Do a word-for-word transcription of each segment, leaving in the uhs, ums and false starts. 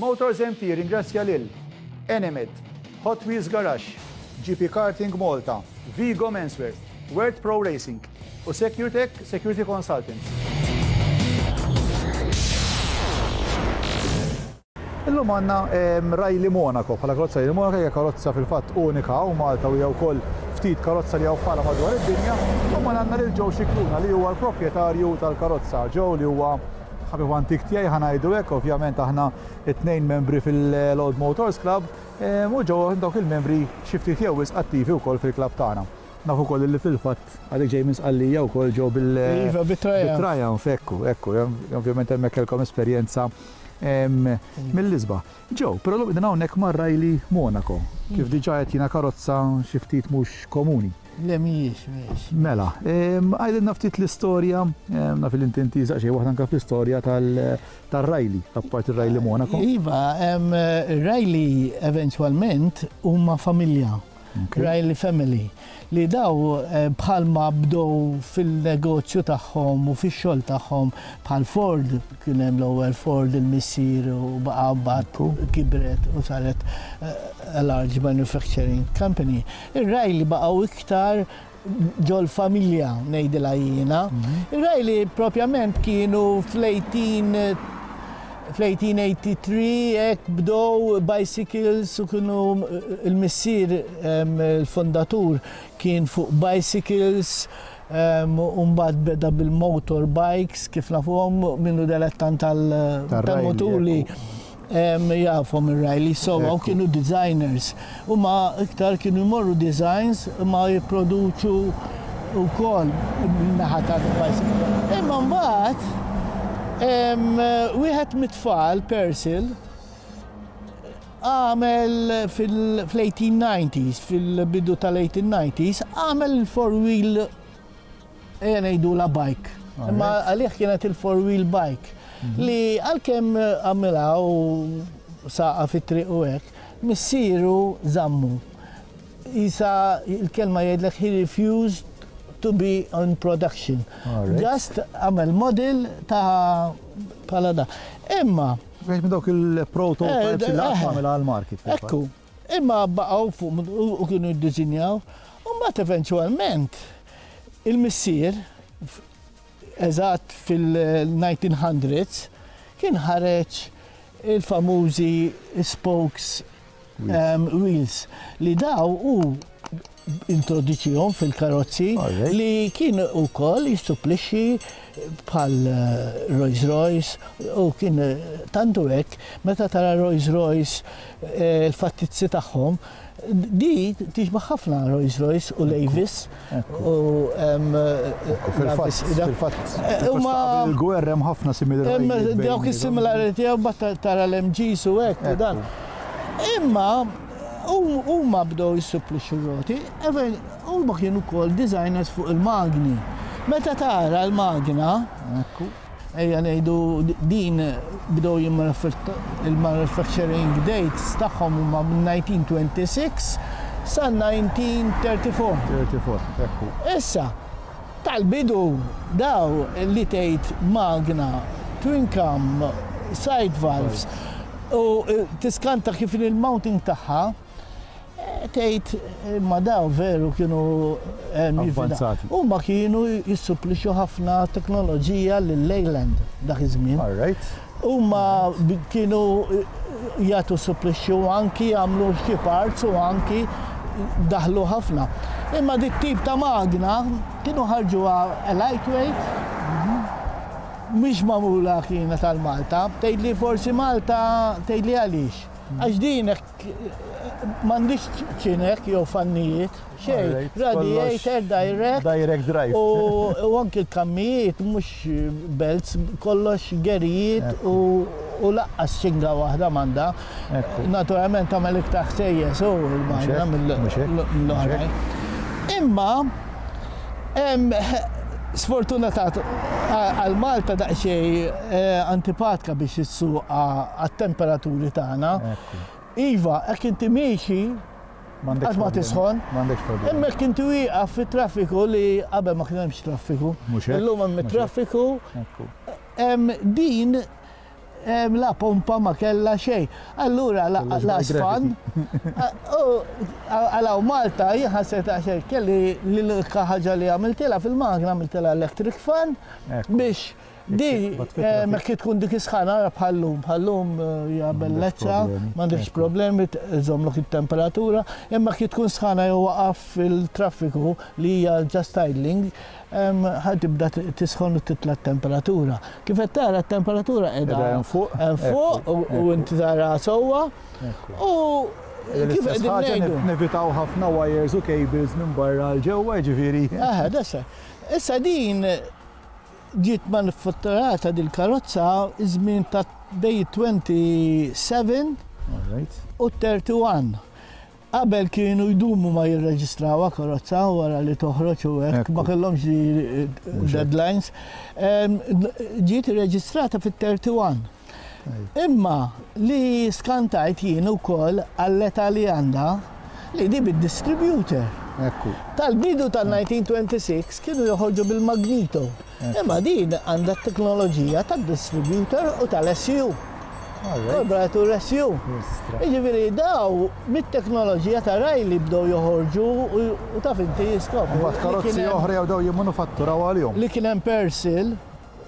Motors M T ringrazzja lil Enemed, Hot Wheels Garage, G P Karting Malta, Vigo Menswear, World Pro Racing u SecureTech Security Consultants. Illum għandna Riley Monaco, bħala karozza Riley Monaco hija karozza fil-fatt unika u Malta u hija wkoll ftit karozza li hawn bħala madwar id-dinja. U ma għandna lil Joe Scicluna li huwa l-proprjetarju tal-karozza. Joe li huwa ħabib antik tiegħi, ħa ngħidu hekk, ovvjament aħna it-tnejn membri fil-Old Motors Club u Joe dawk il-membri xi ftit jew wisq attivi wkoll fil-klabb tagħna. Nafu wkoll li fil-fatt għadek ġej minn Sqallija wkoll, Joe, bil Iva, bit-Triumph. Bit-Triumph, ekku, ekku, ovvjament hemmhekk kellkom esperjenza mill-isbaħ. Joe, però l din hawnhekk ma' Riley Monaco, kif diġà qed jiena karozza xi ftit mhux komuni. Le, mhijiex, mhijiex. Mela, għidilna ftit l-istorja, naf li inti intiża xejn waħda anke fl-istorja tal-Riley, apparti il-Riley Monaco. Iva, Riley eventualment huma familja. Riley Family, li daw eh, bħalma bdow fil-negozju tagħhom u fix-xogħol tagħhom bħal Ford, kien hemm l-ewwel Ford, il-missier, u baqa' mbagħad kibret u saret eh, a large manufacturing company. Ir-Riley baqgħu iktar ġol familja, ngħidilha jiena. Ir-Riley propjament kienu fl-eighteen fl-eighteen eighty-three hekk bdow bicycles u kienu il-missier, il-fondatur, kien fuq bicycles u mbagħad beda bil-motorbikes kif nafuhom minnu dilettant tal-moturi jafhom ir-Riley, so u kienu designers. U ma iktar kienu jmorru designs ma jipproduċu wkoll naħa tal-bicycle. Imma mbagħad wieħed mit-tfal, Percival, għamel fil-eighteen nineties, fil-bidu tal-eighteen nineties, għamel il-four wheel, ejja ngħidu la bike. Imma għalih kienet il-four wheel bike. Li għalkemm għamilha u saqa fit-triq u hekk, missieru żammu. Isa il-kelma jgħidlek he refused to be on production. Just għamel model ta' bħala da. Imma. Wieħed minn dawk il-prototypes li għamel għal-market. Ekku. Imma baqgħu fuq u kienu jiddisinjaw. U mbagħad eventualment il-missier eżatt fil-nineteen hundreds kien ħareġ il-famużi spokes um, wheels li daw u introduċihom fil-karozzi li kien ukoll jissupplixxi bħal eh, Rolls Royce u kien eh, tantu hekk meta tara Rolls Royce, eh, il-fattizzi tagħhom di tixbaħ ħafna Rolls Royce u l-Avis u Fil-fatt, fil-fatt, il-gwerra hemm ħafna similarity. Dawk is-similarity u tara l-M Gs u hekk u dan. Imma huma bdew jissupplixxu roti, huma kienu wkoll designers fuq il-magni. Meta tara l-magna, ejja ngħidu din bdew il-manufacturing dates tagħhom huma minn nineteen twenty-six sa nineteen thirty-four. thirty-four, ekku. Issa, tal-bidu daw li tgħid magna, twin cam, side valves, u eh, tiskanta kif il-mounting tagħha, eh, tgħid ma daw veru kienu avvanzati. Huma kienu jissupplixxu ħafna teknoloġija lil Leyland dak iż-żmien. All right. Huma kienu jagħtu supplixxu, anki jagħmlu xi parts u anki daħlu ħafna. Imma dit tip ta' magna kienu ħarġuha lightweight, mhix magħmula kienet tal-Malta, tgħidli forsi Malta, tgħidli għaliex. Għax din m'għandix ċinek jew fannijiet, xejn, radiator direct. Direct drive. U anki l-kammijiet mhux belts, kollox gerijiet u u lanqas ċinga waħda m'għandha. Naturalment tagħmel iktar ħsejjes u l-magna mill-oħrajn. Imma sfortunatament għal Malta daqsxejn eh, antipatka biex issuqha għat-temperaturi tagħna. Iva, hekk inti miexi għax ma tisħon. Imma jekk inti wieqaf fit-traffiku, li qabel ma kien hemmx traffiku. Illum hemm traffiku. Din La pompa ma kella xejn. Allura la sfan, għalaw Malta, jien ħasset għaxer kelli l-unika ħaġa li għamiltilha fil-magna, għamiltilha electric fan biex di ma kif tkun dik isħana bħallum, bħallum hija bellezza, m'għandekx problemi, żommlok it-temperatura, imma kif tkun sħana jew waqaf fil-traffiku li hija just idling, ħa tibda tisħon u titla' t-temperatura. Kif qed tara t-temperatura qiegħda hemm fuq, hemm fuq u inti tara sewwa. U kif qegħdin ngħidu? Nevitaw ħafna wires u cables minn barra l ġewwa, ġifieri. Aha, dessa. Issa din ġiet manifatturata dil-karozza iż-żmien ta' bej twenty-seven u thirty-one. Qabel kienu jdumu ma jirreġistrawha karozza wara li toħroġ u hekk, ma kellhomx deadlines. Ġiet irreġistrata fit-thirty-one. Imma li skantajt jien ukoll għall-età li għandha li di bid-distributor. Tal-bidu tal-nineteen twenty-six kienu joħorġu bil-magnito. Imma din għandha t-teknoloġija tad-distributor u tal-S U. Karburatur S U. Jiġifieri daw mit-teknoloġija ta' Riley bdew joħorġu u taf inti jiskopru. Mbagħad karozzi oħra jew daw jimmanufatturaw għalihom. Li kien hemm Persil,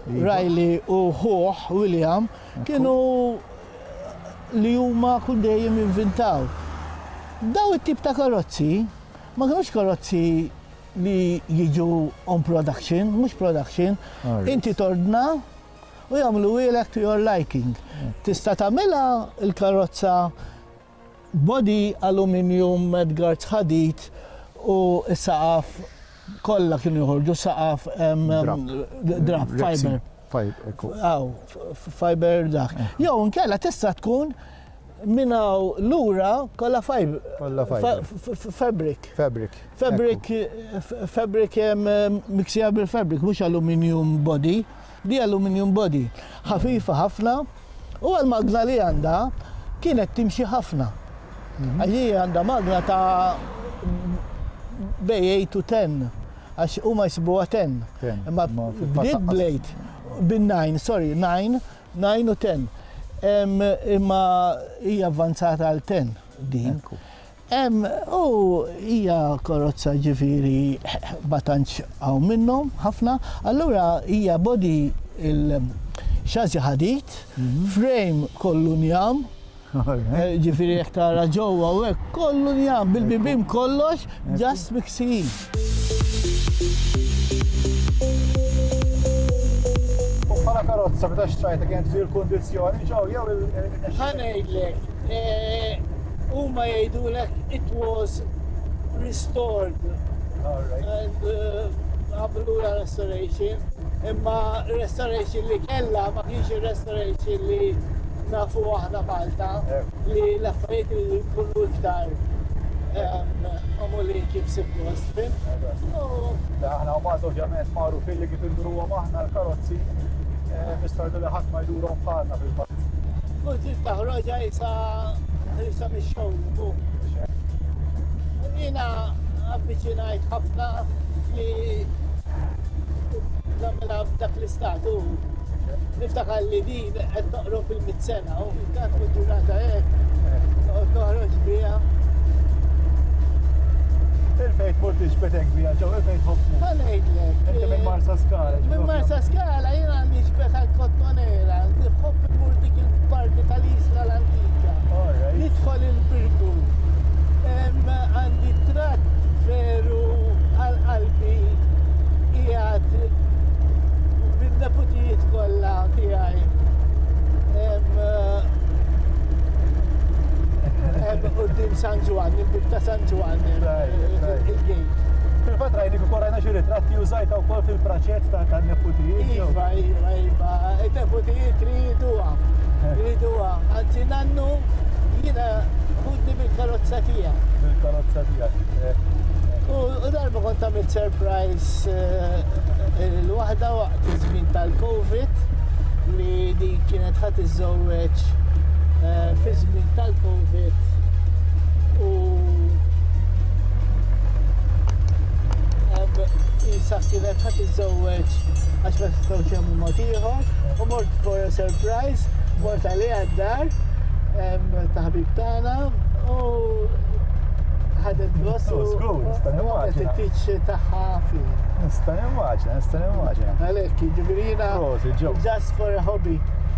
Riley u ħuh William kienu li huma kull dejjem jinvintaw. Daw it-tip ta' karozzi ma kinux karozzi li jiġu on production, mhux production, inti tordna u jagħmlu ilek to your liking. Tista' tagħmilha l-karozza body aluminium, mudguards ħadid u s-saqaf kollha kienu joħorġu saqaf drap, fiber. Aw, fiber dak. Jew inkella tista' tkun minn hawn lura kollha fiber. Fabric. Fabric. Fabric, fabric miksija bil-fabric, mhux aluminium body. Di aluminium body. Ħafifa ħafna u għal-magna li għandha kienet timxi ħafna. Għax hi għandha magna ta' bej eight to ten, għax huma jsibuha ten. Imma bdiet blade bin nine, sorry, nine, nine u ten. Imma hija avvanzata għal ten din. U hija karozza ġifieri ma tantx hawn minnhom ħafna, allura hija body il-xażi ħadid, frame kollu njam, ġifieri jekk tara ġewwa u hekk kollu njam, bil-bibien kollox, just miksijin. Bħala karozza meta xtrajta kienet fil-kundizzjoni ġew jew il- Ħa ngħidlek, huma jgħidulek it was restored. And għamlu la restoration, imma restoration li kellha ma kienx ir-restoration li nafu aħna Malta, li l-affarijiet li jkunu iktar magħmulin kif suppost, fim? Aħna Malta ovvjament magħrufin li kif induruhom aħna l-karozzi, mistardu li ħadd ma jdurhom bħalna fil-fatt. Kull tip ta' ħroġa issa ħrisa mix-xogħol. Jiena avviċinajt ħafna li nagħmilha f'dak l-istat u niftakar li din qed toqrob il-mitt sena u dak u ġurnata hekk noqgħod noħroġ biha. Il-fejn tmur tiġbedek biha ġew, il-fejn tħobb tmur. Ħa ngħidlek. Inti minn Marsa Skala. Minn Marsa Skala jiena għandi ġbed għall-Kottonera, nħobb immur dik il-parti tal-Isla l-Antika. Nidħol il-Birgu. Għandi tratt veru għal qalbi qiegħed bin-neputijiet kollha tiegħi. Quddiem San Ġwann, il-bib ta' San Ġwann, il-gate. Fil-fatt rajnik ukoll rajna xi ritratti użajta wkoll fil-praċett tan-neputijiet. Iva, iva, iva, in-neputijiet riduha, riduha. Anzi nannu jiena ħudni bil-karozza tiegħek. Bil-karozza tiegħek. U darba kont għamilt surprise l-waħda waqt iż-żmien tal-Covid li din kienet ħadd iżżewweġ fi żmien tal-Covid u Isa kienet ħa tiżżewweġ għax ma setgħux jagħmlu mod ieħor u mort for a surprise, mort għaliha d-dar ta' ħabib tagħna u ħadet gost u nista' it-tieġ tagħha fih. Nista' nimmaġina, nista' nimmaġina. Għalhekk, jiġifieri jiena just for a hobby.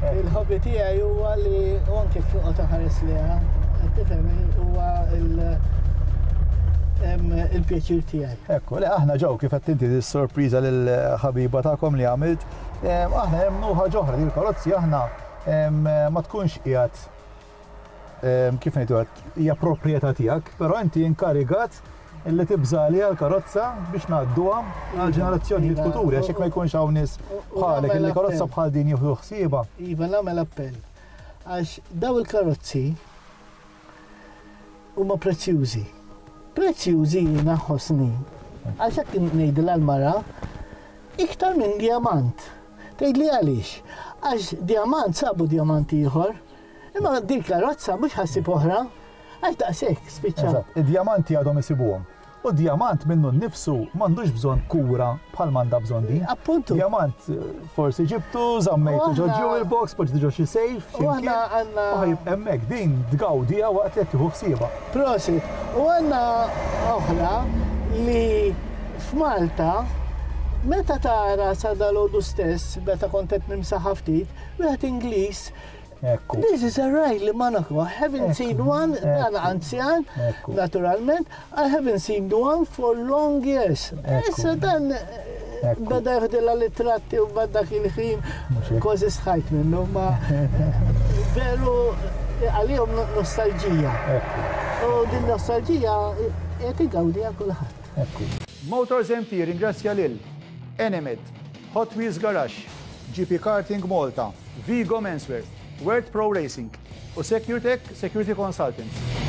Il-hobby tiegħi huwa li u anke kif noqgħod inħares lejha, tifhem, huwa il- il-pjaċir tiegħi. Ekku, le aħna ġew kif qed inti dis-sorpriża lill-ħabiba tagħkom li għamilt, aħna hemm ħaġa oħra li l-karozzi aħna ma tkunx qiegħed, kif ngħidu, hija proprjetà tiegħek, però inti inkarigat illi tibżali għal-karozza biex ngħadduha għal ġenerazzjonijiet futuri, għax ma jkunx hawn nies bħalek illi karozza bħal din jieħdu ħsiebha. Iva, nagħmel appell. Għax daw il-karozzi huma prezzjużi. Prezzjużi jiena ħossni. Għax hekk ngħidilha l-mara iktar minn diamant. Tgħidli għaliex? Għax diamant sabu diamant ieħor. Imma din karozza mhux ħa ssib oħra. Għax daqshekk spiċċa. Eżatt, id-diamanti għadhom isibuhom. U diamant minnu nnifsu m'għandux bżonn kura bħal m'għandha bżonn din. Appuntu. Diamant forsi ġibtu, żammejtu ġo jewel box, poġġi ġo xi safe, U aħna għandna. U ħa jibqa' hemmhekk, din tgawdiha waqt li qed tieħu ħsiebha. Prosit. U għandna oħra li f'Malta meta tara sa dalgħodu stess, meta kont qed nimsaħ ftit, wieħed Ingliż: Ekku. "This is a Riley Monaco. I haven't seen one," dan anzjan, naturalment, "I haven't seen one for long years." Issa dan beda jeħdilha litratti u bada il-ħin kważi sħajt minnu, ma veru għalihom nostalġija. U din nostalġija qed igawdiha kulħadd. Motors M T ringrazzja lil Enemed, Hot Wheels Garage, G P Karting Malta, Vigo Menswear, World Pro Racing u SecureTech Security Consultants.